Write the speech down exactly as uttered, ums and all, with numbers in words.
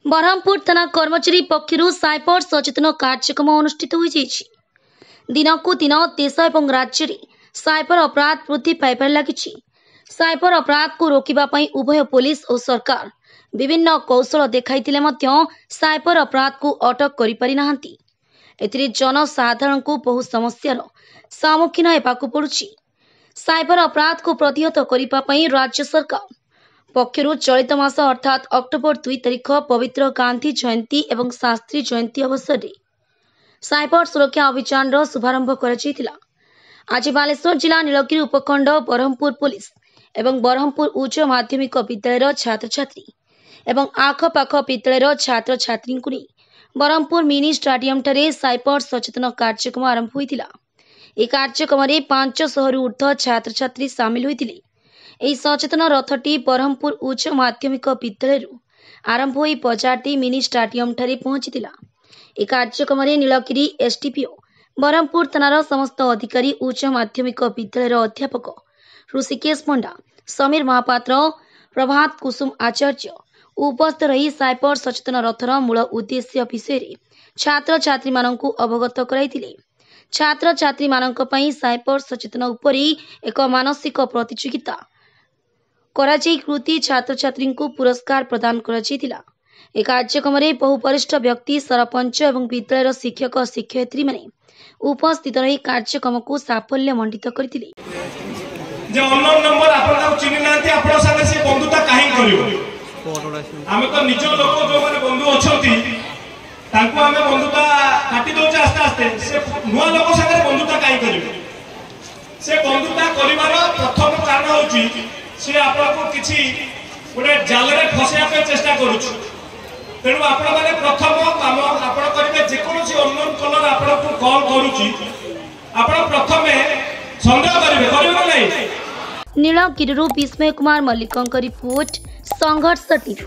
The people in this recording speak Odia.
ବ୍ରହ୍ମପୁର ଥାନା କର୍ମଚାରୀ ପକ୍ଷରୁ ସାଇବର ସଚେତନ କାର୍ଯ୍ୟକ୍ରମ ଅନୁଷ୍ଠିତ ହୋଇଯାଇଛି। ଦିନକୁ ଦିନ ଦେଶ ଏବଂ ରାଜ୍ୟରେ ସାଇବର ଅପରାଧ ବୃଦ୍ଧି ପାଇବାରେ ଲାଗିଛି। ସାଇବର ଅପରାଧକୁ ରୋକିବା ପାଇଁ ଉଭୟ ପୋଲିସ ଓ ସରକାର ବିଭିନ୍ନ କୌଶଳ ଦେଖାଇଥିଲେ ମଧ୍ୟ ସାଇବର ଅପରାଧକୁ ଅଟକ କରିପାରିନାହାନ୍ତି। ଏଥିରେ ଜନସାଧାରଣଙ୍କୁ ବହୁ ସମସ୍ୟାର ସମ୍ମୁଖୀନ ହେବାକୁ ପଡୁଛି। ସାଇବର ଅପରାଧକୁ ପ୍ରତିହତ କରିବା ପାଇଁ ରାଜ୍ୟ ସରକାର ପକ୍ଷରୁ ଚଳିତ ମାସ ଅର୍ଥାତ୍ ଅକ୍ଟୋବର ଦୁଇ ତାରିଖ ପବିତ୍ର ଗାନ୍ଧୀ ଜୟନ୍ତୀ ଏବଂ ଶାସ୍ତ୍ରୀ ଜୟନ୍ତୀ ଅବସରରେ ସାଇବର ସୁରକ୍ଷା ଅଭିଯାନର ଶୁଭାରମ୍ଭ କରାଯାଇଥିଲା। ଆଜି ବାଲେଶ୍ୱର ଜିଲ୍ଲା ନୀଳଗିରି ଉପଖଣ୍ଡ ବ୍ରହ୍ମପୁର ପୋଲିସ ଏବଂ ବ୍ରହ୍ମପୁର ଉଚ୍ଚ ମାଧ୍ୟମିକ ବିଦ୍ୟାଳୟର ଛାତ୍ରଛାତ୍ରୀ ଏବଂ ଆଖପାଖ ବିଦ୍ୟାଳୟର ଛାତ୍ରଛାତ୍ରୀଙ୍କୁ ନେଇ ବ୍ରହ୍ମପୁର ମିନି ଷ୍ଟାଡିୟମଠାରେ ସାଇବର ସଚେତନ କାର୍ଯ୍ୟକ୍ରମ ଆରମ୍ଭ ହୋଇଥିଲା। ଏହି କାର୍ଯ୍ୟକ୍ରମରେ ପାଞ୍ଚଶହରୁ ଉର୍ଦ୍ଧ୍ୱ ଛାତ୍ରଛାତ୍ରୀ ସାମିଲ ହୋଇଥିଲେ। ଏହି ସଚେତନ ରଥଟି ବ୍ରହ୍ମପୁର ଉଚ୍ଚ ମାଧ୍ୟମିକ ବିଦ୍ୟାଳୟରୁ ଆରମ୍ଭ ହୋଇ ବଜାର ଦେଇ ମିନି ଷ୍ଟାଡିୟମଠାରେ ପହଞ୍ଚିଥିଲା। ଏହି କାର୍ଯ୍ୟକ୍ରମରେ ନୀଳଗିରି ଏସ୍ଡିପିଓ, ବ୍ରହ୍ମପୁର ଥାନାର ସମସ୍ତ ଅଧିକାରୀ, ଉଚ୍ଚ ମାଧ୍ୟମିକ ବିଦ୍ୟାଳୟର ଅଧ୍ୟାପକ ଋଷିକେଶ ପଣ୍ଡା, ସମୀର ମହାପାତ୍ର, ପ୍ରଭାତ କୁସୁମ ଆଚାର୍ଯ୍ୟ ଉପସ୍ଥିତ ରହି ସାଇବର ସଚେତନ ରଥର ମୂଳ ଉଦ୍ଦେଶ୍ୟ ବିଷୟରେ ଛାତ୍ରଛାତ୍ରୀମାନଙ୍କୁ ଅବଗତ କରାଇଥିଲେ। ଛାତ୍ରଛାତ୍ରୀମାନଙ୍କ ପାଇଁ ସାଇବର ସଚେତନ ଉପରେ ଏକ ମାନସିକ ପ୍ରତିଯୋଗିତା କରାଯାଇ କୃତି ଛାତ୍ରଛାତ୍ରୀଙ୍କୁ ପୁରସ୍କାର ପ୍ରଦାନ କରାଯାଇଥିଲା। ଏହି କାର୍ଯ୍ୟକ୍ରମରେ ବହୁ ବରିଷ୍ଠ ବ୍ୟକ୍ତି, ସରପଞ୍ଚ ଏବଂ ବିଦ୍ୟାଳୟର ଶିକ୍ଷକ ଶିକ୍ଷୟିତ୍ରୀମାନେ ଉପସ୍ଥିତ ରହି କାର୍ଯ୍ୟକ୍ରମକୁ ସାଫଲ୍ୟ ମଣ୍ଡିତ କରିଥିଲେ। ଯେ ଅନନୋନ୍ ନମ୍ବର, ଆପଣ ତାକୁ ଚିହ୍ନି ନାହାନ୍ତି, ଆପଣଙ୍କ ସାଙ୍ଗେ ସେ ବନ୍ଧୁତା କାହିଁକି କରିବ? ଆମେ ତ ନିଜ ଲୋକ ଯୋଉମାନେ ବନ୍ଧୁ ଅଛନ୍ତି, ତାଙ୍କୁ ଆମେ ବନ୍ଧୁତା କାଟି ଦଉଛେ ଆସ୍ତେ ଆସ୍ତେ। ସେ ନୂଆ ଲୋକ ସାଙ୍ଗରେ ବନ୍ଧୁତା କାହିଁ କରିବେ? ସେ ବନ୍ଧୁତା କରିବାର ପ୍ରଥମ କାରଣ ହଉଛି ସେ ଆପଣଙ୍କୁ କିଛି ଗୋଟେ ଜାଲରେ ଫସେଇବା ପାଇଁ ଚେଷ୍ଟା କରୁଛି। ତେଣୁ ଆପଣମାନେ ପ୍ରଥମ କାମ ଆପଣ କରିବେ, ଯେକୌଣସି ଅନନୋନ୍ କଲର ଆପଣଙ୍କୁ କଲ୍ କରୁଛି, ଆପଣ ପ୍ରଥମେ ସନ୍ଦେହ କରିବେ। କରିବେ ନା ନାହିଁ? ନୀଳଗିରିରୁ ବିସ୍ମୟ କୁମାର ମଲ୍ଲିକଙ୍କ ରିପୋର୍ଟ, ସଂଘର୍ଷ ଟିଭି।